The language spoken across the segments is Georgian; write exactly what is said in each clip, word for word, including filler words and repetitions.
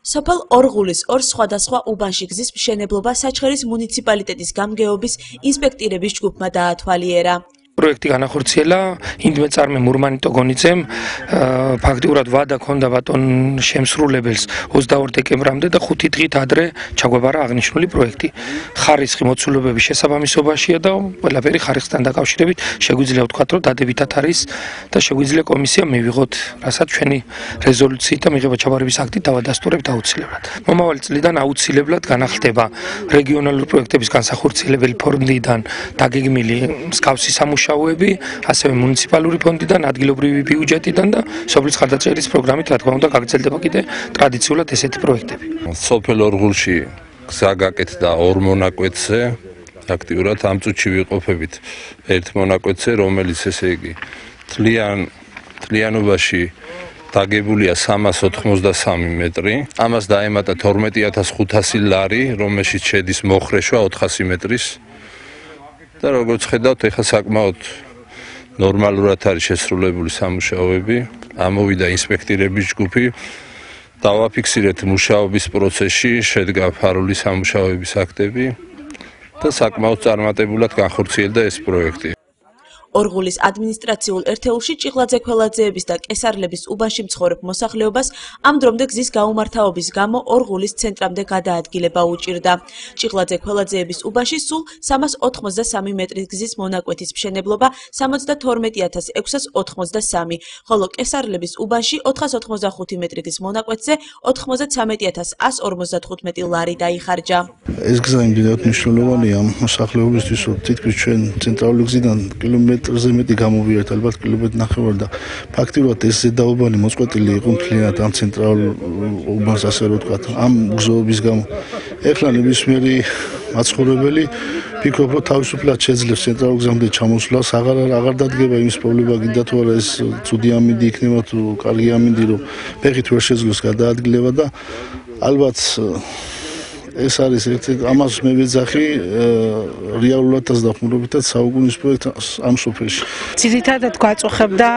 სოფელ ორღულის ორ სხვადასხვა უბანში გზის მშენებლობა საჩხერის მუნიციპალიტეტის გამგეობის ინსპექტირების ჯგუფმა დაათვალიერა. პროექტი განახორციელა ინდმეწარმე მურმანი ტოგონიძემ ფაქტიურად ვადა ქონდა ბატონ შემსრულებელს ოცდაორ დეკემბრამდე და ხუთი დღით ადრე ჩაგვაბარა აღნიშნული პროექტი. ხარისხი მოცულობების შესაბამისობაშია და ყველაფერი ხარისხთან დაკავშირებით შეგვიძლია ვთქვათ, რომ დადებითად არის და შეგვიძლია კომისია მივიღოთ, რასაც ჩვენი რეზოლუციით და მიღება ჩაბარების აქტით დავადასტურებთ აუცილებლად. მომავალი წლიდან აუცილებლად განახლდება რეგიონალური პროექტების განსახორციელებელი ფონდიდან დაგეგმილი მსგავსი სამუშაოები ასევე მუნიციპალური ფონდიდან, ადგილობრივი ბიუჯეტიდან და სოფლის ხარდაჭერის პროგრამით, რა თქმა უნდა, გაგრძელდება კიდე ტრადიციულად ესეთი პროექტები. სოფელ ორღულში გზა გაკეთდა ორ მონაკვეთზე, აქტიურად ამ წუთში ვიყოფებით ერთ მონაკვეთზე, რომელიც ესე იგი თლიან თლიანობაში დაგებულია სამას ოთხმოცდასამი მეტრი. ამას დაემატა თორმეტი ათას ხუთასი ლარი, რომელშიც შედის მოხრეშვა ოთხასი მეტრის. და როგორც ხედავთ, ეხლა საკმაოდ ნორმალურად არის შესრულებული სამუშაოები. ამოვიდა ინსპექტირების ჯგუფი. დავაფიქსირეთ მუშაობის პროცესში, შედგა ფარული სამუშაოების აქტები და საკმაოდ წარმატებულად განხორციელდა ეს პროექტი. ორღულის ადმინისტრაციულ ერთეულში ჭიღლაძე ქველაძეების და კესარლების უბანში მცხოვრებ მოსახლეობას ამ დრომდე გზის გაუმართავობის გამო ორღულის ცენტრამდე გადაადგილება უჭირდა. ჭიღლაძე ქველაძეების უბანში სულ სამას ოთხმოცდასამი მეტრის გზის მონაკვეთის მშენებლობა სამოცდათორმეტი ათას ექვსას ოთხმოცდასამი, ხოლო კესარლების უბანში ოთხას ოცდახუთი მეტრი გზის მონაკვეთზე ოთხმოცდათვრამეტი ათას ას ორმოცდათხუთმეტი ლარი დაიხარჯა. ეს გზა იმდენად მნიშვნელოვანია ამ მოსახლეობისთვის, რომ თითქმის ჩვენ ცენტრალური გზიდან კილომეტრ ზე მეტი გამოვიარეთ, ალბათ კილომეტრი ნახევარი და ფაქტიურად ეს ზედაუბანი მოწყვეტილი იყო მთლიანად ამ ცენტრალურ უბანს, ასე რომ ვთქვათ, ამ გზოების გამო. ეხლა ნებისმიერი მაცხოვრებელი ფიქრობ, რომ თავისუფლად შეძლებს ცენტრალურ გზამდე ჩამოსვლას, აღარ აღარ დადგება იმის პრობლემა, გინდა თუ არა ეს ცუდი ამინდი იქნება თუ კარგი ამინდი, რომ ფეხით ვერ შეძლოს გადაადგილება და ალბათ ეს არის ერთ-ერთი ამას მე ვეძახი რეალურადაც დახმარებითაც საუკუნის პროექტს ამ სოფელში. ძირითადად გვაწუხებდა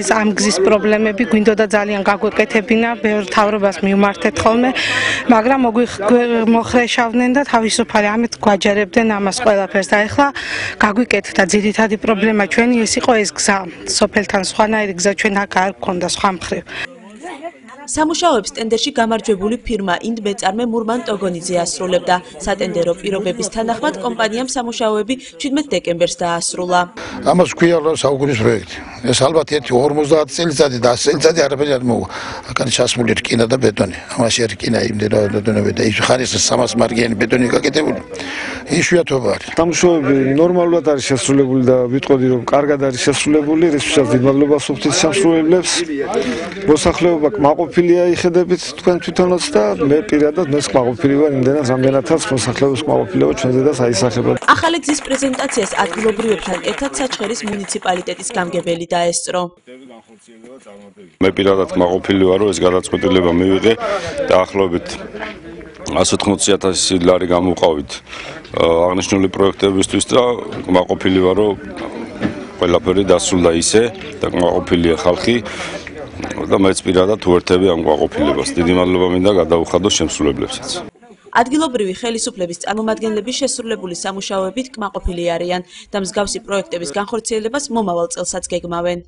ეს ამ გზის პრობლემები, გვინდოდა ძალიან გაგვეკეთებინა, ბევრ თავრობას მივმართეთ ხოლმე, მაგრამ მოხრეშავდნენ და თავისუფალი ამით გვაჯერებდნენ ამას ყველაფერს და ეხლა გაგვიკეთდა ძირითადი პრობლემა ჩვენი ეს იყო ეს გზა, სოფელთან სხვანაირი გზა ჩვენ აქ არ გქონდა სხვა მხრივ. სამუშაოებს ტენდერში გამარჯვებული ფირმა ინდმეწარმე მურმან ტოგონიძე ასრულებდა. სატენდერო პირობების თანახმად კომპანიამ სამუშაოები შვიდმეტ დეკემბერს დაასრულა. ამას ქვია რომ საუკუნის პროექტი. ეს ალბათ ერთი ორმოცდაათი წელიწადი და ასი წელიწადი არაფერი არ მოუვა. აქ ჩასმული რკინა და ბეტონი. ამაში რკინა იმდენად და ის ხარის სამას მარგიანი ბეტონი გაკეთებული. იშვიათობა არის. სამუშაოები ნორმალურად არის შესრულებული და ვიტყოდი რომ კარგად არის შესრულებული, რისთვისაც დიდ მადლობას ვუხდით შემსრულებლებს. მოსახლეობა კმაყოფილია იხედებით თქვენ თვითონაც და მე პირადად მე კმაყოფილი ვარ იმდენად რამდენადაც მოსახლეობის კმაყოფილება ჩვენზე და საისახება. ახალი გზის პრეზენტაციას ადგილობრივებთან ერთად საჩხერის მუნიციპალიტეტის გამგებელი დაესწრო. მე პირადად კმაყოფილი ვარ რომ ეს გადაწყვეტილება მივიღე და ახლობით ას ოთხმოცდაათი ათასი ლარი გამოვყავით აღნიშნული პროექტებისთვის და კმაყოფილი ვარ რომ ყველაფერი დასრულდა ისე და კმაყოფილია ხალხი და მეც პირადად უერთები ამ კმაყოფილებას. დიდი მადლობა მინდა გადაუხადოს შემსრულებლებსაც. ადგილობრივი ხელისუფლების წარმომადგენლების შესრულებული სამუშაოებით კმაყოფილი არიან და მსგავსი პროექტების განხორციელებას მომავალ წელსაც გეგმავენ.